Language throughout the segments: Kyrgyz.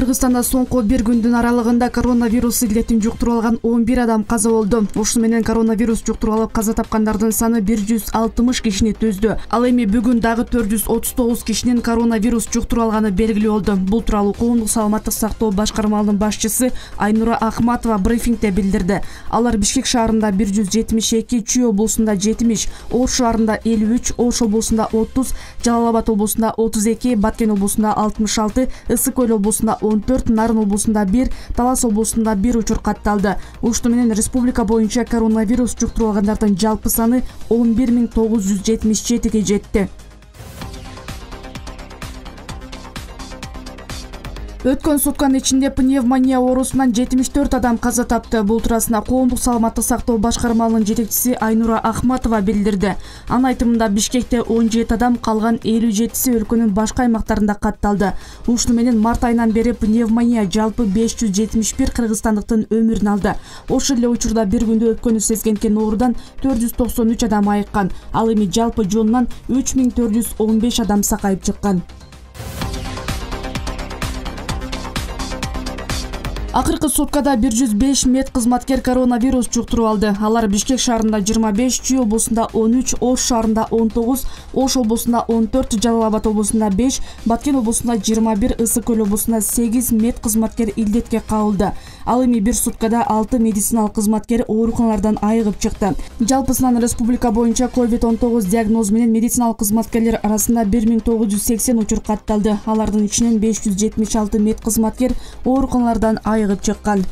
Кыргызстанда соңку бир күндүн аралыгында коронавирус илдетин жуктуруп алган 11 адам каза болду. Ушуну менен коронавирус жуктуруп алып каза тапкандардын саны 160 кишини түздү. Ал эми бүгүн дагы 439 кишинин коронавирус жуктуруп алганы белгилүү болду. Бул тууралуу коомдук саламаттык сактоо башкармалынын башчысы Айнура Ахматова брифингде билдирди. Алар Бишкек шаарында 172, Чүй облусунда 70, Ош шаарында 53, Ош облусунда 30, Жалал Абад облусунда 32, Баткен облусунда 66, Ысык Көл облусунда 14, Нарын облусунда 1, Талас облусунда 1 учур катталды. Ушуну менен республика боюнча коронавирус жуктуруп алгандардын жалпы саны 11977 жетти. Өткөн сутканын ичинде пневмония оорусунан 74 адам каза тапты. Бул туурасында коомдук саламаттык сактоо башкармалынын жетекчиси Айнура Ахматова билдирди. Анын айтымында Бишкекте 17 адам, калган 57-си өлкөнүн башка аймактарында катталды. Ушуну менен март айынан бери пневмония жалпы 571 кыргызстандыктын өмүрүн алды. Ошол эле учурда бир күндө өпкөнү сезгенкен оорудан 493 адам айыккан. Ал эми жалпы жонунан 3415 адам сакайып чыккан. Акыркы суткада 105 мед кызматкер коронавирус жуктуруп алды. Алар Бишкек шаарында 25, Чүй облусунда 13, Ош шаарында 19, Ош облусунда 14, Жалал Абад облусунда 5, Баткен облусунда 21, Ысык Көл облусунда 8 мед кызматкер илдетке кабылды. Ал эми бир суткада 6 медициналык кызматкер ооруканалардан айыгып чыкты. Жалпысынан республика боюнча COVID-19 диагнозу менен медициналык кызматкерлер арасында 1980 учур катталды. Алардын ичинен 576 мед кызматкер ооруканалардан айыгып чыккан.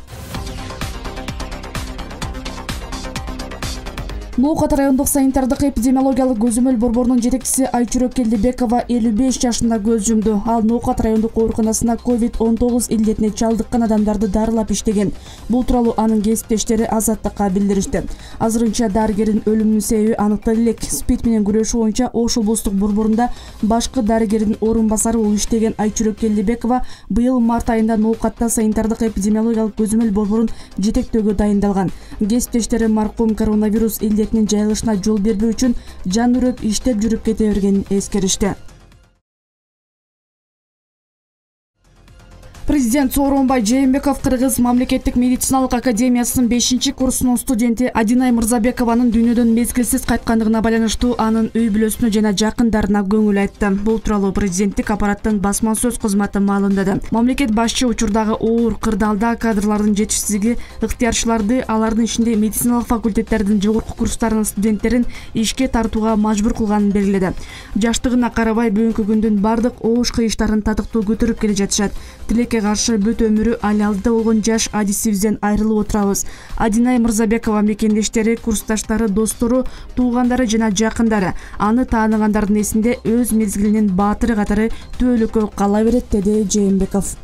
Ноокат райондук санитардык эпидемиологиялык көзөмөл борборунун жетекчиси Айчүрөк Келдибекова 55 жашында көз жумду. Ал Ноокат райондук ооруканасында COVID-19 илдетине чалдыккан адамдарды дарылап иштеген. Бул тууралуу анын кесиптештери Азаттыкка билдиришти. Азырынча дарыгердин өлүмүнүн себеби аныкталды элек. СПИД менен күрөшүү боюнча Ош облустук борборунда башкы дарыгердин орун басары болуп иштеген Айчүрөк Келдибекова быйыл март айында Ноокатта санитардык эпидемиологиялык көзөмөл борборун жетектөөгө дайындалган. Кесиптештери маркум коронавирус илдетинин жайылышына жол бербөө үчүн жан үрөп иштеп жүрүп кете бергенин эскеришти. Президент Сооронбай Жээнбеков Кыргыз мамлекеттик медициналык академиясынын 5-курсунун студенти Адинай Мырзабекованын дүйнөдөн мезгилсиз кайткандыгына байланыштуу анын үй бүлөсүнө жана жакындарына көңүл айтты. Бул тууралуу президенттик аппараттын басма сөз кызматы маалымдады. Мамлекет башчы учурдагы оор кырдаалда кадрлардын жетишсиздиги ыктыярчыларды, алардын ичинде медициналык факультеттердин жогорку курстарынын студенттерин ишке тартууга мажбур кылганын белгиледи. Жаштыгына карабай бүгүнкү күндүн бардык оош кыйыштарын татыктуу көтөрүп келе жатышат. Каршы бүт өмүрү ал алдыда болгон жаш адисибизден айрылып отурабыз. Адинай Мырзабекова мекендештери, курсташтары, достору, туугандары жана жакындары аны тааныгандардын эсинде өз мезгилинин баатыры катары түбөлүккө кала берет, деди Жээнбеков.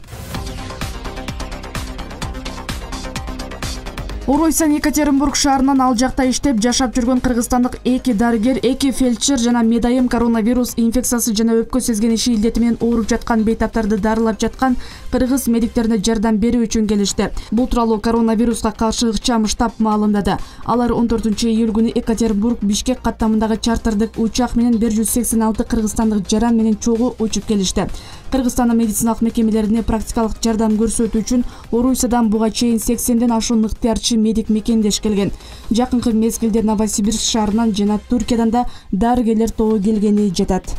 Оройсан Екатеринбург шаарынан ал жакта иштеп жашап жүргөн кыргызстандык 2 дарыгер, 2 фельдшер жана медайым коронавирус инфекциясы жана өпкө сезгениши илдети менен ооруп жаткан бейтаптарды дарылап жаткан кыргыз медиктерине жардам берүү үчүн келишти. Бул тууралуу коронавируска каршы ыкчам штаб маалымдады. Алар 14-июль күнү Екатеринбург Бишкек каттамындагы чартардык учак менен 186 кыргызстандык жаран менен чогуу учуп келишти. Кыргызстандын медициналык мекемелерине практикалык жардам көрсөтүү үчүн Орусиядан буга чейин 80ден ашуун ыктыярчы медик мекендеш келген. Жакынкы мезгилде Новосибирск шаарынан жана Түркиядан да дарыгерлер тобу келгени жатат.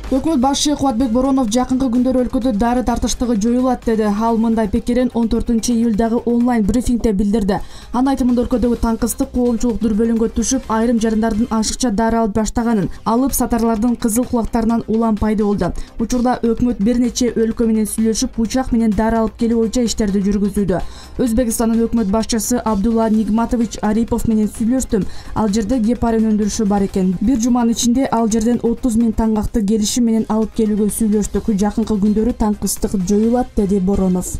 Өкмөт башчы Кубатбек Боронов жакынкы күндөр өлкөдө дары тартыштыгы жоюлат деди. Ал мындай пикирин 14-июлдагы онлайн брифингде билдирди. Анын айтымында өлкөдөгү таңкыстык коомчулук дүрбөлүнгө түшүп, айрым жарандардын ашыкча дары алып баштаганын, алып сатарлардын кызыл кулактарынан улам пайда болду. Учурда өкмөт бир нече өлкө менен сүйлөшүп, учак менен дары алып келүү боюнча иштерди жүргүзүүдө. Өзбекстандын өкмөт башчысы Абдулла Нигматович Арипов менен сүйлөштүм. Ал жерде гепарин өндүрүшү бар экен. Бир жуманын ичинде ал жерден 30 000 таңгакты келишим менен алып келүүгө сүйлөштүк. Жакынкы күндөрү таңкыстык жоюлат, деди Боронов.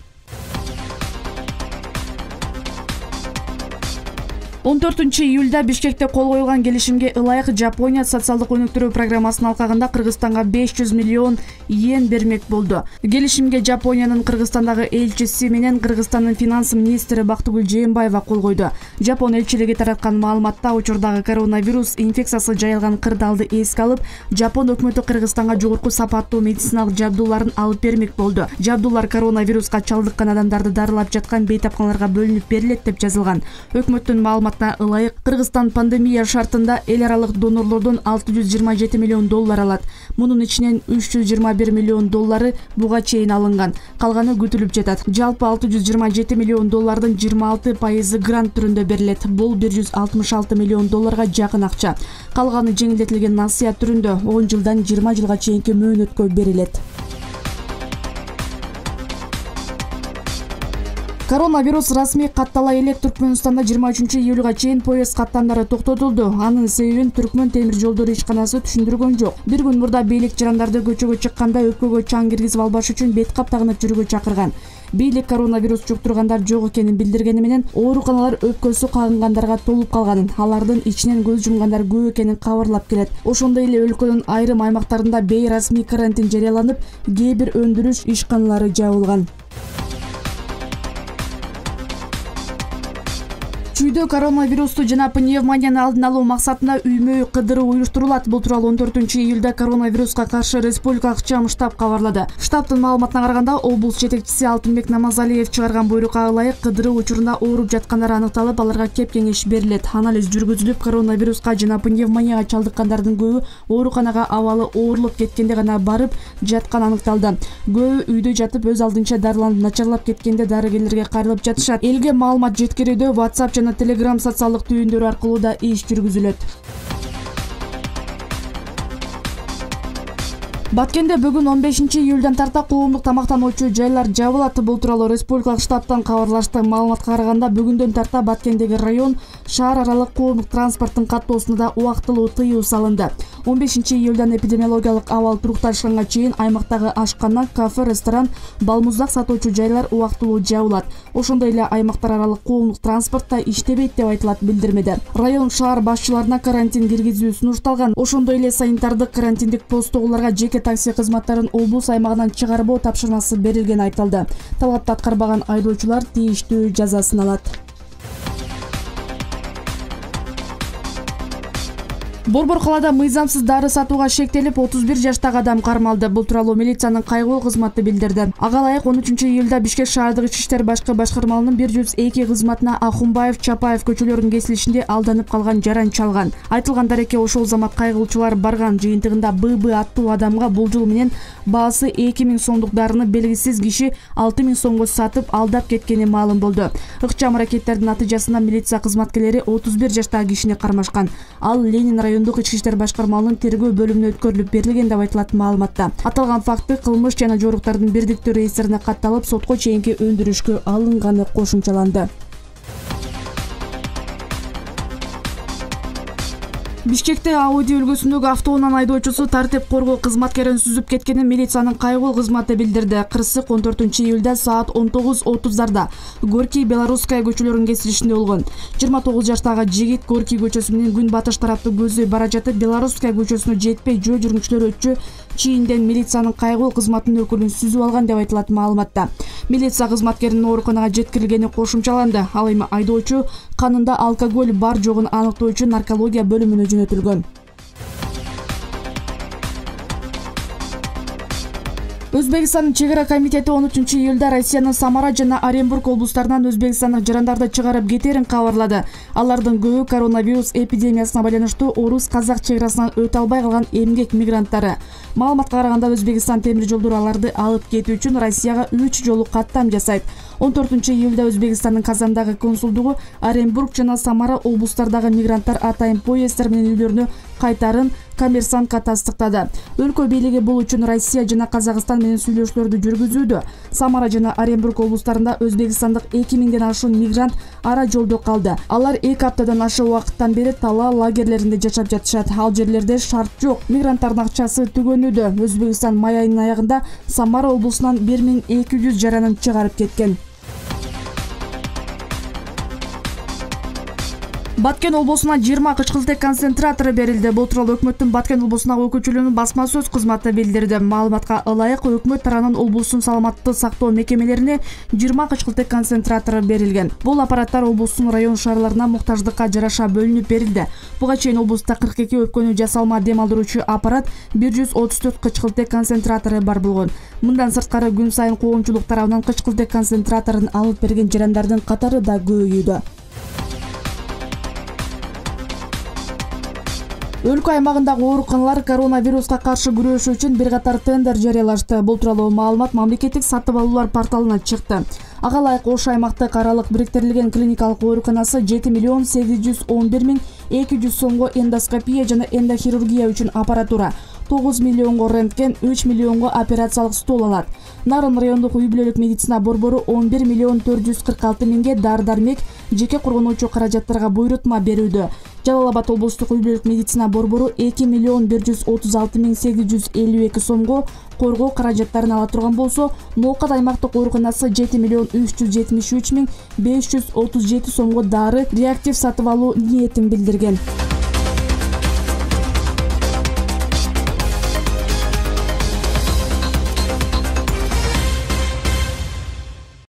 14-июлда Бишкекте кол коюлган келишимге ылайык Жапония социалдык өнүктүрүү программасынын алкагында Кыргызстанга 500 миллион йен бермек болду. Келишимге Жапониянын Кыргызстандагы элчиси менен Кыргызстандын финанс министри Бактыгүл Жээнбаева кол койду. Жапон элчилиги тараткан маалыматта учурдагы коронавирус инфекциясы жайылган кырдаалды эске алып, Жапон өкмөтү Кыргызстанга жогорку сапаттуу медициналык жабдууларын алып бермек болду. Жабдуулар коронавируска чалдыккан адамдарды дарылап жаткан бейтапканаларга бөлүнүп берилет деп жазылган. Өкмөттүн маалыматына ылайык, Кыргызстан пандемия шартында эл аралык донорлордон 627 миллион доллар алат. Мунун ичинен 321 миллион доллары буга чейин алынган. Калганы күтүлүп жатат. Жалпы 627 миллион доллардын 26% грант түрүндө берилет. Бул 166 миллион долларга жакын акча. Калганы жеңилдетилген насыят түрүндө 10 жылдан 20 жылга чейинки мөөнөткө берилет. Коронавирус расмий каттала элек Түркмөнстанда 23-июлга чейин поезд каттамдары токтотулду. Анын себебин Түркмөн темир жолдор ишканасы түшүндүргөн жок. Бир күн мурда бийлик жарандарды көчөгө чыкканда өпкөгө чаң киргизип албаш үчүн бет кап тагынып жүрүүгө чакырган. Бийлик коронавирус жуктургандар жок экенин билдиргени менен ооруканалар өпкөсү кагынгандарга толуп калганын, алардын ичинен көз жумгандар көп экенин кабарлап келет. Ошондой эле өлкөнүн айрым аймактарында бейрасмий карантин жарыяланып, кээ бир өндүрүш ишканалары жабылган. Чүйдө коронавирусту жана пневмонияны алдын алуу максатында үймө кыдыруу уюштурулат. Бул тууралуу 14-июлда коронавируска каршы республикалык чам штаб кабарлады. Штабтын маалыматына караганда, облус жетекчиси Алтынбек Намазалиев чыгарган буйрукка ылайык кыдыруу учурунда ооруп жаткандар аныкталып, аларга кеп кеңеш берилет. Анализ жүргүзүлүп, коронавируска жана пневмонияга чалдыккандардын көбү ооруканага абалы оорлоп кеткенде гана барып жатканы аныкталды. Көбү үйдө жатып, өз алдынча дарыланып начарлап кеткенде дарыгерлерге кайрылып жатышат. Элге маалымат жеткирүүдө WhatsApp жана Telegram социалдык түйүндөрү аркылуу да иш жүргүзүлөт. Баткенде бүгүн 15-июлдан тарта коомдук тамактануучу жайлар жабылат. Бул тууралуу республикалык штабтан кабарлашты. Маалыматка караганда, бүгүндөн тарта Баткендеги район, шаар аралык коомдук транспорттун каттоосуна да убактылуу тыюу салынды. 15-июлдан эпидемиологиялык абал турукташканга чейин аймактагы ашкана, кафе, ресторан, балмуздак сатуучу жайлар убактылуу жабылат. Ошондой эле аймактар аралык коомдук транспорт да иштебейт деп айтылат билдирмеде. Район шаар башчыларына карантин киргизүү сунушталган. Ошондой эле санитардык карантиндик посттогуларга жеке такси кызматтарын облус аймагынан чыгарбоо тапшырмасы берилгени айтылды. Талапты аткарбаган айдоочулар тийиштүү жазасын алат. Борбор калаада мыйзамсыз дары сатууга шектелип, 31 жаштагы адам кармалды. Бул тууралуу милициянын кайгылуу кызматы билдирди. Ага ылайык 13-июлда Бишкек шаардык ички иштер башкы башкармалынын 102 кызматына Ахунбаев, Чапаев көчөлөрүнүн кесилишинде алданып калган жаран чалган. Айтылган дарекке ошол замат кайгылуучулар барган. Жыйынтыгында ББ аттуу адамга болжол менен баасы 2000 сомдук дарыны белгисиз киши 6000 сомго сатып алдап кеткени маалым болду. Ыкчам аракеттердин натыйжасында милиция кызматкерлери 31 жаштагы кишини кармашкан. Ал Ленин райондук ички иштер башкармалынын тергөө бөлүмүнө өткөрүлүп берилген деп айтылат маалыматта. Аталган факты кылмыш жана жоруктардын бирдиктүү реестрине катталып, сотко чейинки өндүрүшкө алынганы кошумчаланды. Бишкекте Ауди үлгүсүндөгү автоунан айдоочусу тартип коргоо кызматкерин сүзүп кеткенин милициянын кайгылуу кызматы билдирди. Кырсык 14-июлда саат 19:30 Горький Белорусская көчөлөрүнүн кесилишинде болгон. 29 жаштагы жигит Горький көчөсү менен күн батыш тарапты көздөй бара жатып, Белорусская көчөсүнө жетпей, жөө жүргүнчүлөр өтчү чийинден милициянын кайгылуу кызматынын өкүлүн сүзүп алган деп айтылат маалыматта. Милиция кызматкеринин ооруканага жеткирилгени кошумчаланды. Ал эми айдоочу канында алкоголь бар жогун аныктоо үчүн наркология бөлүмүнө жөнөтүлгөн. Өзбекстандын чегара комитети 13-июлда Россиянын Самара жана Оренбург облустарынан өзбекстандык жарандарды чыгарып кетерин кабарлады. Алардын көбү коронавирус эпидемиясына байланыштуу орус-казак чегарасынан өтө албай калган эмгек мигранттары. Маалыматка караганда, Өзбекстан темир жолдору аларды алып кетүү үчүн Россияга 3 жолу каттам жасайт. 14-июлда Өзбекстандын Казандагы консулдугу Оренбург жана Самара облустардагы мигранттар атайын поезддер менен үйлөрүнө кайтарын Коммерсантка тастыктады. Өлкө бийлиги бул үчүн Россия жана Казакстан менен сүйлөшүүлөрдү жүргүзүүдө. Самара жана Оренбург облустарында өзбекстандык 2000ден ашуун мигрант ара жолдо калды. Алар 2 аптадан ашык убакыттан бери Тала лагерлеринде жашап жатышат. Ал жерлерде шарт жок. Мигранттардын акчасы түгөнүүдө. Өзбекстан май айынын аягында Самара облусунан 1200 жаранын чыгарып кеткен. Баткен облусуна 20 кычкылтек концентратору берилди. Бул тууралуу өкмөттүн Баткен облусундагы өкүлчүлүгүнүн басма сөз кызматы билдирди. Маалыматка ылайык, өкмөт тарабынан облустун саламаттыкты сактоо мекемелерине 20 кычкылтек концентратору берилген. Бул аппараттар облустун район шаарларына муктаждыкка жараша бөлүнүп берилди. Буга чейин облуста 42 өпкөнү жасалма дем алдыруучу аппарат, 134 кычкылтек концентратору бар болгон. Мындан сырткары күн сайын коомчулук тарабынан кычкылтек концентраторун алып берген жарандардын катары да көбөйүүдө. Өлкө аймагындагы ооруканалар коронавируска каршы күрөшүү үчүн бир катар тендер жарыялашты. Бул тууралуу маалымат мамлекеттик сатып алуулар порталына чыкты. Ага ылайык Ош аймактык аралык бириктирилген клиникалык ооруканасы 7.811.200 сомго эндоскопия жана эндохирургия үчүн аппаратура, 9 миллионго рентген, 3 миллионго операциялык стол алат. Нарын райондук үй-бүлөлүк медицина борбору 11.446.000ге дары-дармек, жеке коргонуучу каражаттарга буйрутма берүүдө. Жалал Абад облустук үй-бүлөлүк медицина борбору 2.136.852 сомго коргоо каражаттарын ала турган болсо, Ноокат аймактык ооруканасы 7.373.537 сомго дары, реактив сатып алуу ниетин билдирген.